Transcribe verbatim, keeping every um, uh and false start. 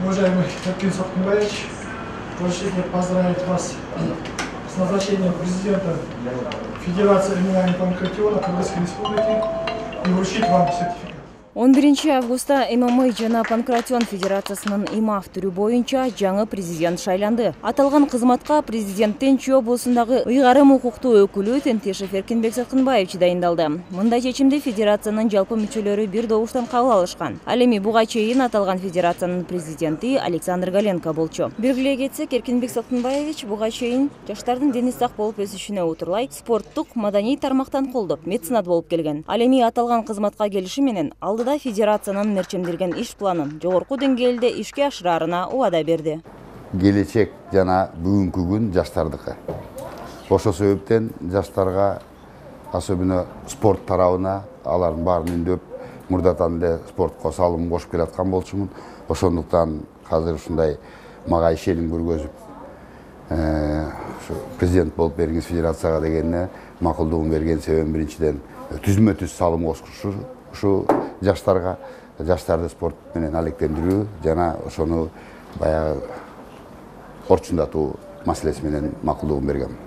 Уважаемый Эркин Саттымбаевич, разрешите поздравить вас с назначением президента Федерации эм эм а и панкратиона Кыргызской Республики и вручить вам сертификат. он биринчи августта эм эм а жана панкратион федерациясынын имав түрү боюнча жаңы президент шайланды. Аталган кызматка президенттин Чүй облусундагы ыйгарым укуктуу өкүлү Тентешев Эркинбек Саткынбаевич дайындалды. Мындай чечимди федерациянын жалпы мүчөлөрү бир добуштан кабыл алышкан. Ал эми буга чейин аталган федерациянын президенти Александр Галенко болчу. Белгилей кетсек, Эркинбек Саткынбаевич буга чейин жаштардын дени сак болуп өсүшүнө утурлай спорттук, маданий тармактан колдоп, меценат болуп келген. Ал эми аталган кызматка келиши менен алдыда федерациянын мерчемделген иш планын жогорку деңгээлде ишке ашыраарына убада берди. Келечек жана бүгүнкү күн жаштардыкы. Ошол себептен жаштарга, особенно спорт тарабына, алардын баарын үндөп, мурдатан эле спортко салым кошуп келаткан болчумун. Ошондуктан азыр ушундай мага ишеним көргөзүп, президент болуп бергиңиз федерацияга дегенине макулдугун берген себебим биринчиден түзмө түз салым кошушу, ушу жаштарга, жаштарды спорт менен алектендирүү жана ошону баягы орчундатуу маселеси менен макулдугун бергем.